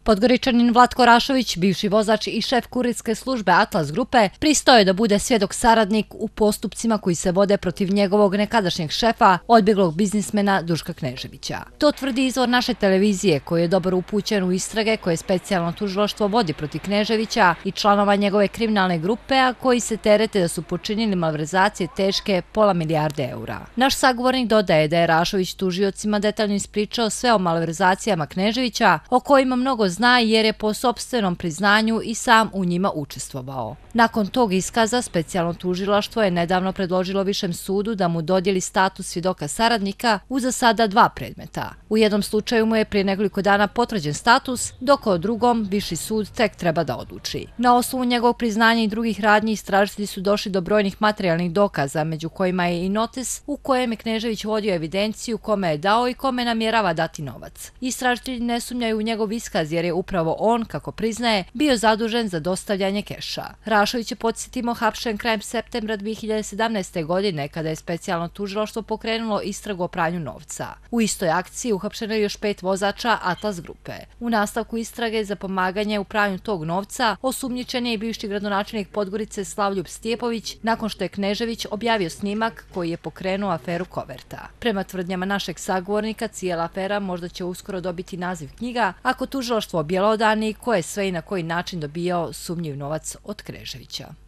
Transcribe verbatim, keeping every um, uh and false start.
Podgoričanin Vlatko Rašović, bivši vozač i šef kurirske službe Atlas grupe, pristao je da bude svjedok saradnik u postupcima koji se vode protiv njegovog nekadašnjeg šefa, odbjeglog biznismena Duška Kneževića. To tvrdi izvor naše televizije, koji je dobro upućen u istrage koje specijalno tužilaštvo vodi protiv Kneževića i članova njegove kriminalne grupe, a koji se terete da su počinili malverzacije teške pola milijarde eura. Naš sagovornik dodaje da je Rašović tužiocima detaljno ispričao sve o malverzacijama Kneževića, o kojima mnogo zna jer je po sopstvenom priznanju i sam u njima učestvovao. Nakon tog iskaza, specijalno tužilaštvo je nedavno predložilo Višem sudu da mu dodijeli status svjedoka saradnika u za sada dva predmeta. U jednom slučaju mu je prije nekoliko dana potvrđen status, dok o drugom Viši sud tek treba da odluči. Na osnovu njegovog priznanja i drugih radnji istražitelji su došli do brojnih materijalnih dokaza, među kojima je i notis u kojem je Knežević vodio evidenciju kome je dao i kome namjerava dati novac. Istražitelji ne sumnjaju u njegov iskaz jer je upravo on, kako priznaje, bio zadužen za dostavljanje keša. Rašović je, podsjetimo, hapšen krajem septembra dvije hiljade sedamnaeste. godine kada je specijalno tužilaštvo pokrenulo istragu o pranju novca. U istoj akciji uhapšeno je još pet vozača Atlas grupe. U nastavku istrage za pomaganje u pranju tog novca osumnjičen je i bivši gradonačelnik Podgorice Slavljub Stjepović nakon što je Knežević objavio snimak koji je pokrenuo aferu Koverta. Prema tvrdnjama našeg sagovornika, cijela afera možda će uskoro dobiti naziv knjiga ako tužilaštvo objelodani ko je sve i na koji način dobijao sumnjiv novac od Kneževića.